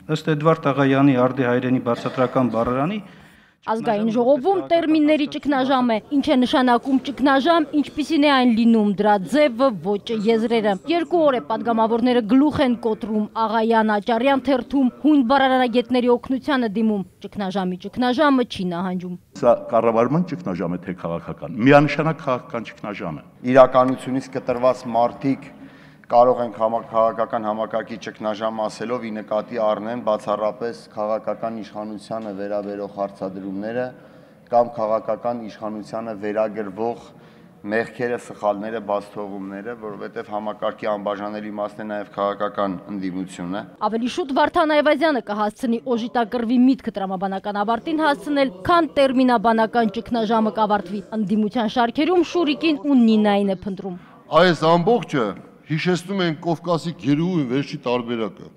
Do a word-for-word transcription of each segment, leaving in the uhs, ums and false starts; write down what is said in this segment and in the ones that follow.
Ըստ Էդվարդ Աղայանի արդի հայրենի բացատրական բառարանի Ազգային ժողովում տերմինների ճգնաժամ է, ինչ է նշանակում ճգնաժամ, ինչպիսին է այն լինում, դրա ձևը, ոճը, եզրերը։ Երկու օր է պատգամավորները գլուխ են կոտրում, Աղայան Աճարյան թերթում հույն բառարարագետների օգնությանը դիմում, ճգնաժամի ճգնաժամը չի նահանջում։ Սա կառավարման ճգնաժամ է, թե քաղաքական, միանշանակ քաղաքական ճգնաժամ է։ Իրականությունից կտրված մարդիկ կարող ենք քաղաքական համակարգի ճգնաժամ ասելով ի նկատի առնեն բացառապես քաղաքական իշխանությանը վերաբերող հարցադրումները կամ քաղաքական իշխանությանը վերագրվող մեղքերը, սխալները, բացթողումները, որովհետև համակարգի անբաժանելի մասն է նաև քաղաքական ընդդիմությունը։ Ավելի շուտ Վարդան Այվազյանը կհասցնի օժիտակրվի միտքը տրամաբանական ավարտին հասցնել, քան տերմինաբանական ճգնաժամը կավարտվի։ Ընդդիմության շարքերում Շուրիկին ու Նինային է փնտրում։ Այս ամբողջը հիշեցնում են Կովկասի գերուի վերջի տարբերակը։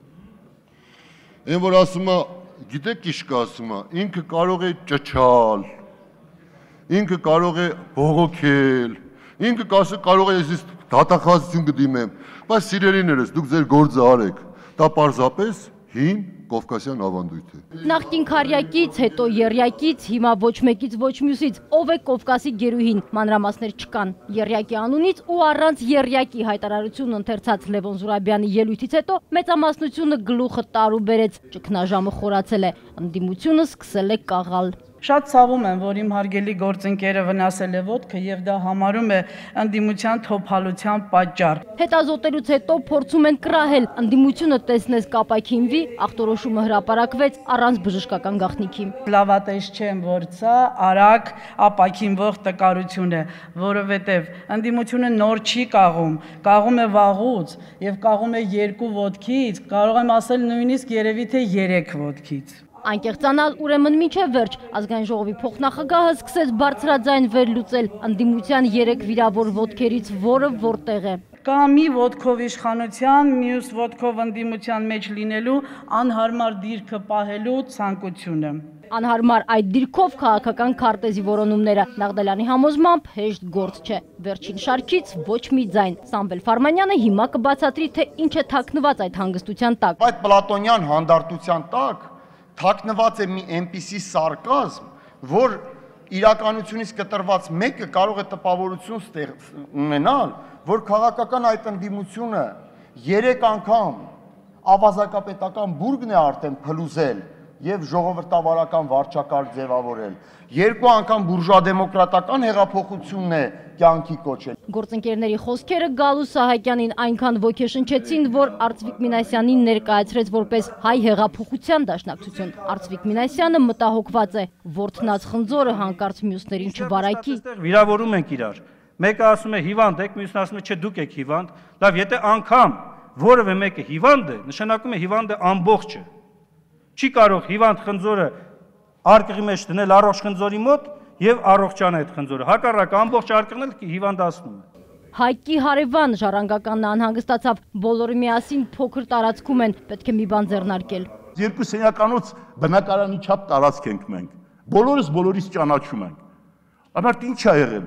Այն որ ասում է, գիտեք ինչ կա ասում է, ինքը կարող է ճչալ, ինքը կարող է բողոքել, ինքը կարող է ես դատախազություն կդիմեմ, բայց սիրելիներս, դուք ձեր գործը արեք, դա պարզապես հին Կովկասյան ավանդույթ է։ Նախկին քարյակից, հետո եռյակից, հիմա ոչ մեկից ոչ մյուսից, ով է Կովկասի գերուհին, մանրամասներ չկան։ Եռյակի անունից ու առանց եռյակի հայտարարություն ընթերցած Լևոն Զուրաբյանի ելույթից հետո մեծամասնությունը գլուխը տարու բերեց, ճգնաժամը խորացել է, ընդդիմությունը սկսել է կաղալ։ Շատ ցավում եմ, որ իմ հարգելի գործընկերը վնասել է ոտքը եւ դա համարում է ընդդիմության թոփալության պատճառ։ Հետազոտելուց հետո փորձում են կռահել, ընդդիմությունը տեսնես կապակինվի, ախտորոշումը հրապարակվեց առանց բժշկական գաղտնիքի։ Լավատես չեմ, որ սա արագ ապակինվող տկարություն է, որովհետեւ ընդդիմությունը նոր չի կաղում, կաղում է վաղուց եւ կաղում է երկու ոտքից, կարող եմ ասել նույնիսկ երևի թե երեք ոտքից։ Անկեղծանալ ուրեմն մինչև վերջ ազգային ժողովի փոխնախագահը սկսեց բարձրաձայն վերլուծել ընդդիմության երեք վիրավոր ոտքերից որը որտեղ է։ Կա մի ոտքով իշխանության, մյուս ոտքով ընդդիմության մեջ լինելու անհարմար դիրքը պահելու ցանկությունը։ Անհարմար այդ դիրքով քաղաքական քարտեզի որոնումները Նաղդալյանի համոզմամբ հեշտ գործ չէ։ Վերջին շարքից ոչ մի ձայն։ Սամվել Ֆարմանյանը հիմա կբացատրի, թե ինչ է թաքնված այդ հանգստության տակ։ Այդ պլատոնյան հանդարտության տակ թաքնված է մի այնպիսի սարկազմ, որ իրականությունից կտրված մեկը կարող է տպավորություն ունենալ, որ քաղաքական այդ ընդդիմությունը երեք անգամ ավազակապետական բուրգն է արդեն փլուզել եւ ժողովրդավարական վարչակարգ ձևավորել, երկու անգամ բուրժուա-դեմոկրատական հեղափոխությունն է կյանքի կոչել։ Գործընկերների խոսքերը Գալու Սահակյանին այնքան ոգեշնչեցին, որ Արծվիկ Մինասյանին ներկայացրեց որպես հայ հեղափոխության դաշնակցություն։ Արծվիկ Մինասյանը մտահոգված է, որդնած խնձորը հանկարծ մյուսներին չվարակի։ Վիրավորում ենք իրար։ Մեկը ասում է հիվանդ եք, մյուսն ասում է չէ դուք եք հիվանդ։ Լավ, եթե անգամ որևէ մեկը հիվանդ է, նշանակում է հիվանդը ամբողջը։ Չի կարող հիվանդ խնձորը արկղի մեջ դնել առողջ խնձորի մոտ եւ առողջան այդ խնձորը։ Հակառակ ամբողջ արկղն էլ հիվանդացնում է։ Հայկի հարևան ժառանգականն անհանգստացավ, բոլորը միասին փոքր տարածքում են, պետք է մի բան ձեռնարկել։ Երկու սենյականոց բնակարանի չափ տարածք ենք մենք։ Բոլորս բոլորից ճանաչում ենք։ Ամառ ինչ ա եղել։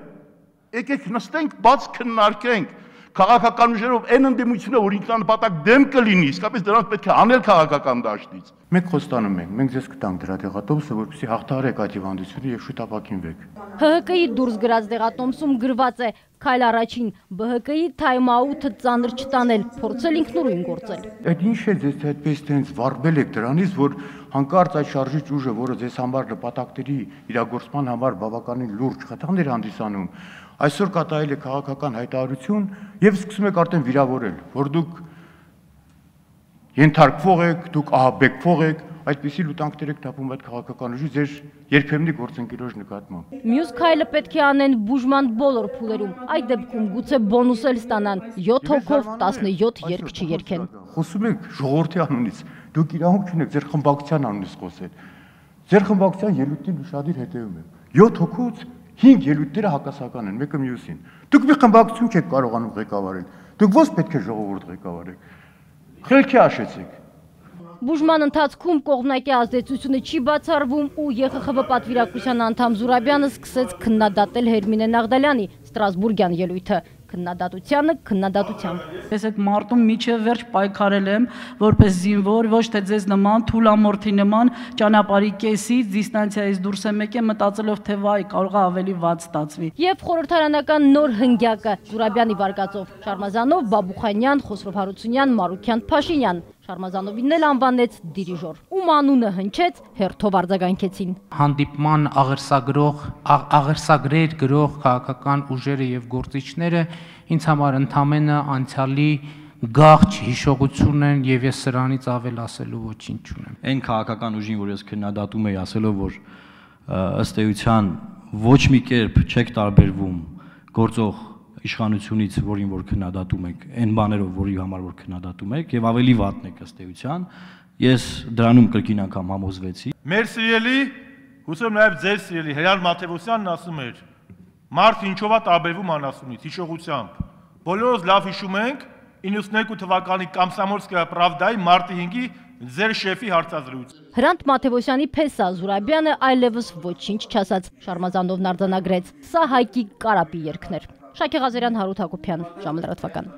Եկեք նստենք, բաց քննարկենք։ Քաղաքական ուժերով այն ընդդիմությունը, որ ինքնանպատակ դեմ կլինի, իսկապես դրանց պետք է անել քաղաքական դաշտից։ Մենք խոստանում ենք, մենք ձեզ կտանք դրա դեղատոմսը, որպեսզի հաղթահարեք այդ հիվանդությունը եւ շուտ ապակինվեք։ Հ Հ Կ-ի դուրս գրած դեղատոմսում գրված է. «Քայլ առաջին, Բ Հ Կ-ի թայմ-աութը ծանր չտանել, փորձել ինքնուրույն գործել»։ Այդ ինչ է ձեզ այդպես տենց վարվել եք դրանից, որ հանկարծ այդ շարժիչ ուժը, որը ձեզ համար նպատակների իրագործման համար բավականին լուրջ խթաններ հանդիսանում, այսօր կատարել է քաղաքական հայտարարություն եւ սկսում եք արդեն վիրավորել, որ դուք ենթարկվող եք, դուք ահաբեկվող եք, այդպիսի լուտանքներ եք տապում այդ քաղաքական ուժի ձեր երբեմնի գործընկերոջ նկատմամբ։ Մյուս քայլը պետք է անեն բուժման բոլոր փուլերում։ Այդ դեպքում գուցե բոնուս էլ ստանան յոթ հոգով տասնյոթ երգ չերքեն։ Խոսում եք ժողովրդի անունից, դուք իրավունք չունեք ձեր խմբակցության անունից խոսել։ Ձեր խմբակցության ելույթին ուշադիր հետևում եմ։ յոթ հոգուց հինգ ելույթները հակասական են, մեկը մյուսին։ Դուք մի խմբակցություն չեք կարողանում ղեկավարել։ Դուք ո՞ց պետք է ժողովուրդ ղեկավարեք։ Խելքի հաշեցիք։ Բուժման ընթացքում կողմնակի ազդեցությունը չի բացառվում ու Ե Խ Խ V պատվիրակության անդամ Զուրաբյանը սկսեց քննադատել Հերմինե Նաղդալյանի Ստրասբուրգյան ելույթը։ քննադատությանը քննադատությամբ։ Ես այդ մարտում միջև վերջ պայքարել եմ որպես զինվոր, ոչ թե ձեզ նման թուլամորթի նման ճանապարհի կեսից դիստանցիայից դուրս եմ եկել մտածելով թե վայ կարող է ավելի վատ ստացվի։ Եվ խորհրդարանական նոր հնգյակը Զուրաբյանի վարկածով Շարմազանով, Բաբուխանյան, Խոսրով Հարությունյան, Մարուքյան, Փաշինյան։ Շարմազանովին էլ անվանեց դիրիժոր։ Ում անունը հնչեց, հերթով արձագանքեցին։ Հանդիպման աղերսագրող, աղերսագրեր գրող քաղաքական ուժերը եւ գործիչները ինձ համար ընդամենը անցյալի գաղթ հիշողություն են եւ ես սրանից ավել ասելու ոչինչ չունեմ։ Այն քաղաքական ուժին, որ ես քննադատում եի ասելով, որ ըստ էության ոչ մի կերպ չեք տարբերվում գործող իշխանությունից, որին որ քննադատում եք, այն բաներով, որի համար որ քննադատում եք, եւ ավելի վատն եք ըստ էության, ես դրանում կրկին անգամ համոզվեցի։ Մեր սիրելի, հուսով նաեւ ձեր սիրելի Հրան Մաթեւոսյանն ասում էր. «Մարդ ինչով է տարբերվում անասունից, հիշողությամբ»։ Բոլորս լավ հիշում ենք իննսունյոթ թվականի Կամսամոլսկայա Պրավդայի մարտի հինգի ձեր շեֆի հարցազրույցը։ Հրանտ Մաթեւոսյանի փեսա Զուրաբյանը այլևս ոչինչ չասաց, Շարմազանովն արձանագրեց. սա Հայկի Կարապի երգն էր։ Շակե Ղազարյան, Հարութ Հակոբյան, ժամը լրատվական։